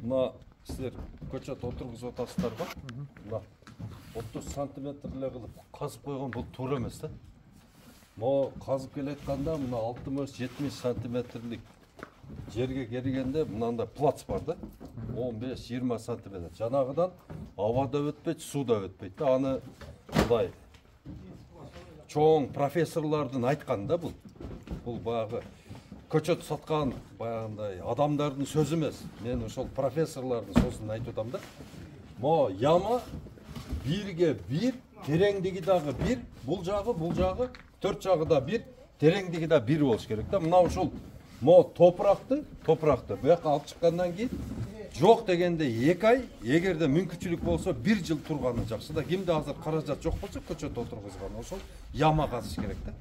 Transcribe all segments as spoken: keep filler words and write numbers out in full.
Мына силер көчөт отургузуп атасыздарбы? Мына отуз сантиметр эле кылып казып койгон бул туура эмес да. Могу казып келатканда мына алтымыш жетимиш сантиметрлик жерге келгенде мынандай плац бар да. он беш жыйырма сантиметр. Жанагыдан абада өтпөйт, сууда өтпөйт да. Аны мындай чоң профессорлордун айткан да бул. Бул баягы көчөт саткан баягындай адамдардын сөзү эмес. Мен ошол профессорлордун сөзүн айтып атам да. Мо яма бирге бир, тереңдиги дагы бир, бул жагы, бул жагы, төрт жагы да бир, тереңдиги да бир болуш керек да. Мына ушул мо топуракты, топуракты буяка алып чыккандан кийин жок дегенде эки ай, эгерде мүмкүнчүлүк болсо бир жыл турганы жакшы да. Кимде азыр каражат жок болсо көчөт отургузган ошол яма казыш керек да.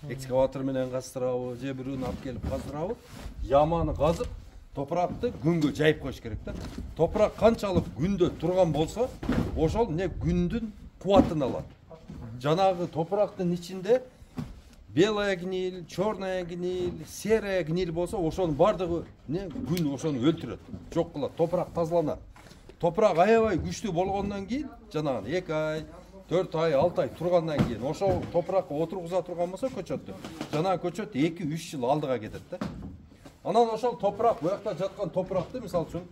Экскаватор менен каздырабы, же бирөөнү алып келип каздырабы, яманы казып, топуракты күнгө жайып коюш керек да. Топурак канчалык күндө турган болсо, ошол не күндүн кубатын алат. Жанагы топурактын ичинде белая гниль, черная гниль, серая гниль болсо, ошонун бардыгы не күн ошону өлтүрөт, жок кылат. Топурак тазаланат. Топурак аябай күчтүү болгондон кийин, жанагы эки ай, төрт ай, алты ай тургандан кийин ошол топуракка отургуза турган болсо көчөттү, жанагы көчөт эки үч жыл алдыга кетет да. Анан ошол топурак, буякта жаткан топуракты мисалы үчүн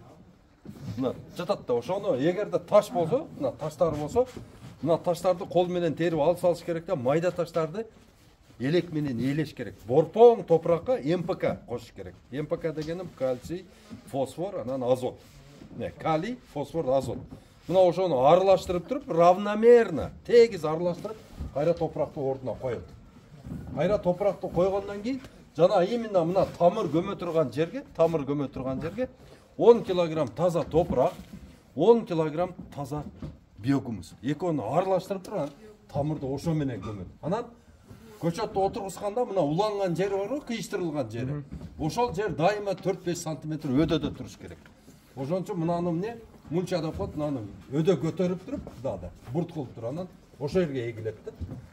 мына жатат да, ошону эгерде таш болсо, мына таштар болсо, мына таштарды кол менен терип алып салыш керек да, майда таштарды элек менен ээлеш керек. Борпоң топуракка эм пэ ка кошуш керек. эм пэ ка дегеним кальций, фосфор, анан азот. Не, калий, фосфор, азот. Мына ошону аралаштырып туруп, равномерно, тегиз аралаштырып, кайра топуракты ордуна коет. Кайра топуракты койгондон кийин, жана именно мына тамыр көмө турган жерге, тамыр көмө турган жерге он килограмм таза топурак, он килограмм таза биогумус. Экөөнү аралаштырып туруп, тамырды ошо менен көмөт. Анан көчөттү отургузганда мына уланган жери барбы, кыйыштырылган жери. Ошол жер дайыма төрт беш сантиметр өдөдө туруш керек. Ошон үчүн мынаны эмне мунча деп коет, мынаны өдө көтөрүп туруп, дагы бурт кылып туруп, анан ошол жерге эгилет да.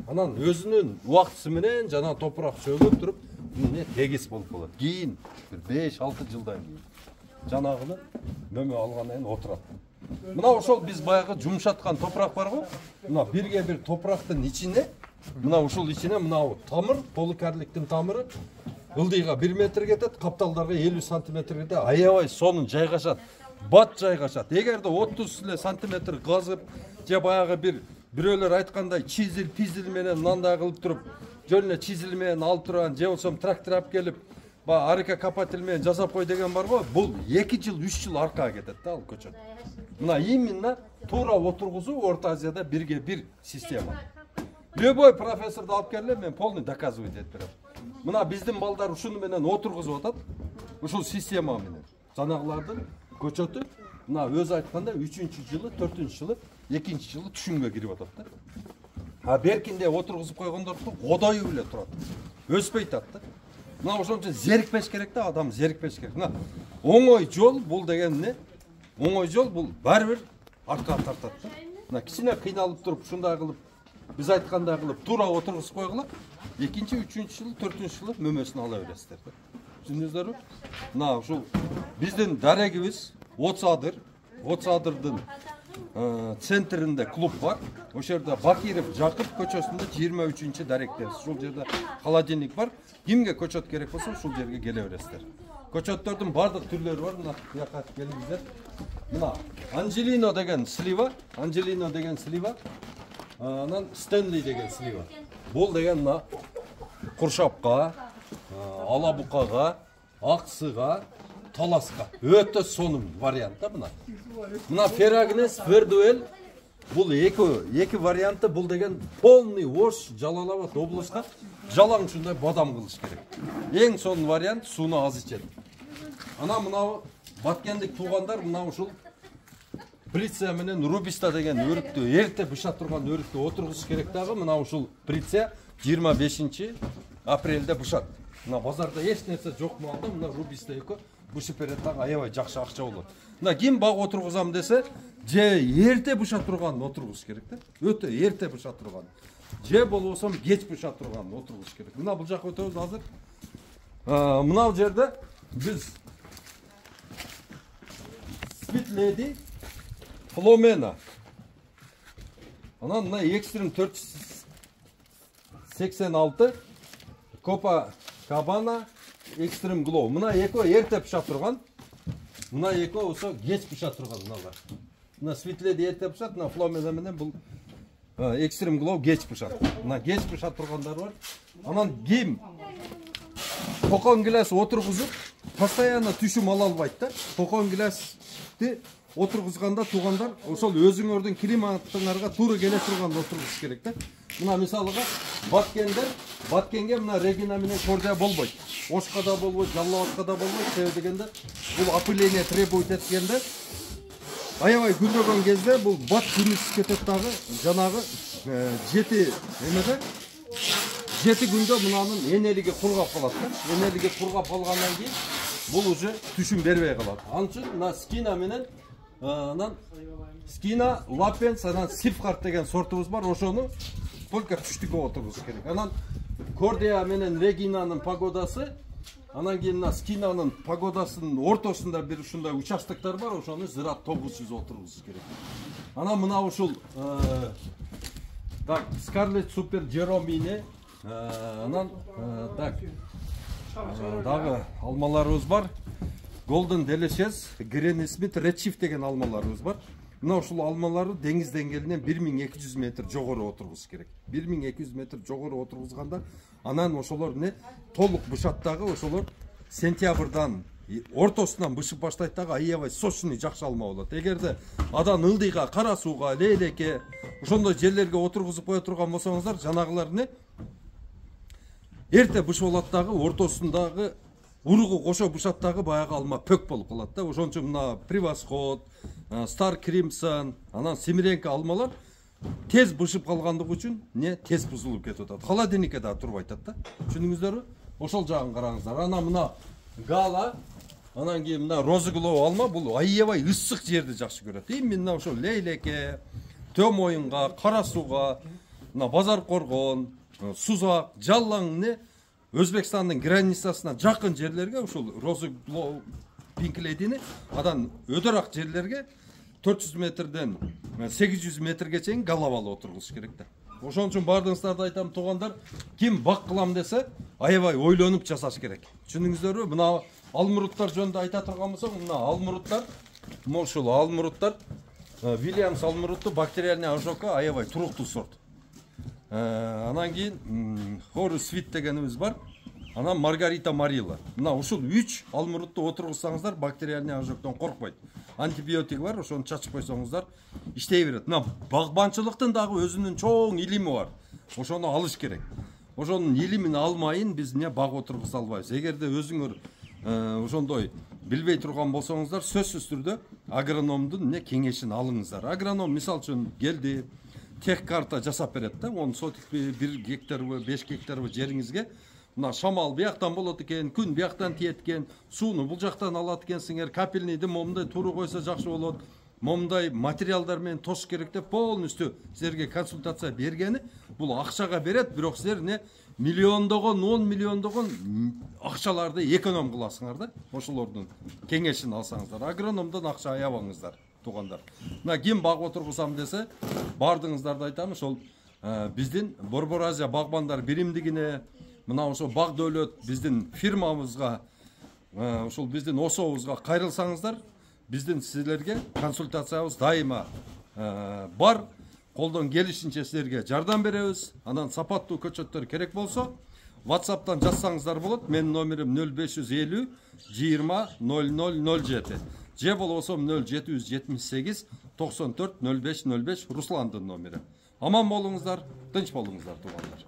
Анан өзүнүн убактысы менен жана топурак чөгүп туруп, эмне тегиз болуп калат. Кийин бир беш алты жылдан кийин жанагыны мөмө алгандан кийин отурат. Мына ошол биз баягы жумшаткан топурак барбы? Мына бирге бир топурактын ичине, мына ушул ичине мына тамыр, поликарликтин тамыры ылдыйга бир метр кетет, капталдарга элүү сантиметр кетет, аябай сонун жайгашат. Бат жайгашат. Эгерде отуз эле сантиметр казып, же баягы бир бирөөлөр айткандай чизил, пизил менен мындай кылып туруп, жөн эле чизил менен алып турган, же болсо трактор алып келип, баягы арка копатель менен жасап кой деген барбы? Бул эки жыл, үч жыл аркага кетет да ал көчөт. Мына именно туура отургузуу Орто Азияда бирге бир система. Любой профессорду алып келе, мен полный доказывать этип берем. Мына биздин балдар ушуну менен отургузуп атат. Ушул система менен. Жанагылардын көчөтү мына өзү айтканда үчүнчү жылы, төртүнчү жылы, экинчи жылы түшүнгө кирип атат да. А беркинде отургузуп койгондорду годою эле турат. Өспөй атат да. Мына ошон үчүн зерикпеш керек да, адам зерикпеш керек. Мына оңой жол бул деген эмне? Оңой жол бул баары бир артка тартат да. Мына кичине кыйналып туруп, ушундай кылып, биз айткандай кылып туура отургузуп койгула, экинчи, үчүнчү жылы, төртүнчү жылы мөмөсүн ала бересиздер да. Түшүндүңүздөрбү? Мына ушул биздин дарегибиз Отсадыр, Отсадырдын центринде клуб бар. Ошол жерде Бакиров Жакып көчөсүндө жыйырма үчүнчү даректе. Ушул жерде холодильник бар. Кимге көчөт керек болсо ушул жерге келе бересиздер. Көчөттөрдүн бардык түрлөрү бар. Мына буяка келиңиздер. Мына Анжелино деген слива, Анжелино деген слива, анан Стенли деген слива. Бул деген мына куршапка, алабукага, аксыга, таласка өтө сонун вариант да мына. Мына Ферагнес, Фердуэль бул эки эки варианты, бул деген полный Ош, Жалал-Абад облуска жалаң ушундай бадам кылыш керек. Эң сонун вариант, сууну аз ичет. Ана мына баткендик туугандар мына ушул Приция менен Рубиста деген өрүктү, эрте быша турган өрүктү отургузуш керек дагы. Мына ушул Приция жыйырма бешинчи апрелде бышат. Мына базарда эч нерсе жок малда, мына Рубиста экөө бышып берет дагы, аябай жакшы акча болот. Мына ким баг отургузам десе, же эрте быша турган отургуз керек да. Өтө эрте быша турган. Же болбосо кеч быша турган отургуз керек. Мына бул жака өтөбүз азыр. Мына жерде биз Sweet Lady Flomena. Анан мына Extreme төрт жүз сексен алты Copa Cabana Extreme Glow. Мына экөө эрте пыша турган. Мына экөө болсо кеч пыша турган мыналар. Мына Sweet Lady эрте пышат, мына Flomena менен бул Extreme Glow кеч пышат. Мына кеч пыша тургандар бар. Анан ким токон гилас отургузуп, постоянно түшүм ала албайт да. Токон гиласты отургузганда туугандар ошол өзүңөрдүн климатыңарга туура келе турган отургуш керек да. Мына мисалыга баткендер, баткенге мына Regina менен кордия болбойт. Ошкада болбойт, Жалал-Абадка да болбойт. Себеби дегенде бул опыление требует эткенде аябай күнөгөн кезде бул бат күнүсүп кетет дагы. Жанагы жети эмеде жети күндө мынанын энелиги кургап калат да. Энелиги кургап калгандан кийин бул уже түшүм бербей калат. Анын үчүн мына Skina менен анан Skina, Lapens, анан Sifhart деген сортубуз бар. Ошону только түштүккө отургуз керек. Анан Cordia менен Regina'нын погодасы, анан кийин мына Skina'нын погодасынын ортосунда бир ушундай участоктор бар. Ошону зырат тогуз жүз отургуз керек. Анан мына ушул так Scarlet Super Jeromine, анан так дагы алмаларыбыз бар. Golden Delicious, Granny Smith, Red Chief деген алмаларыбыз бар. Мына ушул алмаларды деңиз деңгээлинен бир миң эки жүз метр жогору отургуз керек. бир миң эки жүз метр жогору отургузганда анан ошолор не толук бышат дагы, ошолор сентябрдан ортосунан бышып баштайт дагы, аябай сочный жакшы алма болот. Эгерде адан ылдыйга, кара сууга, лейлекке ошондой жерлерге отургузуп кое турган болсоңуздар, жанагылар не эрте бышып алат дагы, ортосундагы уругу кошо бышат дагы баягы алма пөк болуп калат да. Ошон үчүн мына Превосход, Star Crimson, анан Семиренко алмалар тез бышып калгандыгы үчүн не тез бузулуп кетип атат. Холодильникке да туруп атат да. Түшүндүңүздөрбү? Ошол жагын караңыздар. Анан мына Гала, анан кийин мына Розыглоо алма, бул аябай ысык жерди жакшы көрөт. Именно ошол лейлекке, Төм оюнга, кара сууга, мына Базар Коргон, Сузак, Жаллаң не Өзбекстандын границасына жакын жерлерге ушул Розыглоо Pink Lady'ni адан өдөрак жерлерге төрт жүз метрден сегиз жүз метрге чейин галавалы отургуз керек да. Ошон үчүн бардыгыңыздарды айтам туугандар, ким бак кылам десе, аябай ойлонуп жасаш керек. Түшүндүңүздөрбү? Мына алмуруттар жөнүндө айта турган болсок, мына алмуруттар, ушул алмуруттар Williams алмуруту бактериальный ожогко аябай туруктуу сорт. Анан кийин Horus Sweet дегенибиз бар. Анан Маргарита Марила. Мына ушул үч алмурутту отургузсаңыздар, бактериальный ожогдон коркпойт. Антибиотик бар, ошону чачып койсоңуздар иштей берет. Мына багбанчылыктын дагы өзүнүн чоң илими бар. Ошону алыш керек. Ошонун илимин алмайын биз не баг отургуза албайбыз. Эгерде өзүңөр ошондой билбей турган болсоңуздар, сөзсүз түрдө агрономдун не кеңешин алыңыздар. Агроном мисал үчүн келди, тех карта жасап берет да, он сотикпи, бир гектарбы, беш гектарбы жериңизге мына шамал бияктан болот экен, күн бияктан тиет экен, сууну бул жактан алат экенсиңер, капельныйды момундай туура койсо жакшы болот, момундай материалдар менен тош керек деп полностью силерге консультация бергени, бул акчага берет, бирок силер не миллиондогон, он миллиондогон акчаларды эконом кыласыңар да, ошолордун кеңешин алсаңыздар. Агрономдон акча аябаңыздар, туугандар. Мына ким баг отургузам десе, бардыгыңыздарды айтам, ошол биздин Борбор Азия багбандар биримдигине, мына ошо Баг Дөөлөт биздин фирмабызга, ошол биздин особузга кайрылсаңыздар, биздин силерге консультациябыз дайыма бар. Колдон келишинче силерге жардам беребиз. Анан сапаттуу көчөттөр керек болсо, WhatsApp'тан жазсаңыздар болот. Менин номерим нөл беш жүз элүү жыйырма ноль ноль ноль жети. Же болбосо нөл жети жүз жетимиш сегиз токсон төрт ноль беш ноль беш Русландын номери. Аман болуңуздар, тынч болуңуздар туугандар.